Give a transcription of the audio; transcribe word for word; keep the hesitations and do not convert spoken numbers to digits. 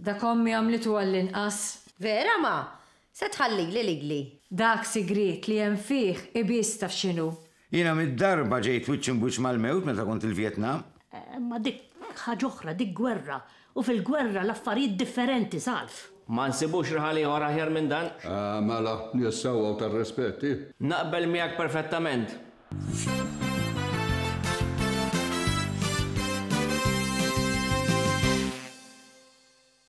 Dak ommi għamlitu għall-inqas. Vera ma? Se tħallili lili. Dak sigriet li hemm fih ibiss taf x'inhu. Jiena mitt darba ġejt wiċċ imb'wiċċ mal-mewt meta kont il-Vjetnam. Ma dik ħaġa oħra, dik gwerra. U fil-gwerra l-affarijiet differenti, Salv. Ma nsibux raħal ieħor aħjar minn dan. Ah, mela, nies sewwa u tar-rispett. Naqbel miegħek perfettament.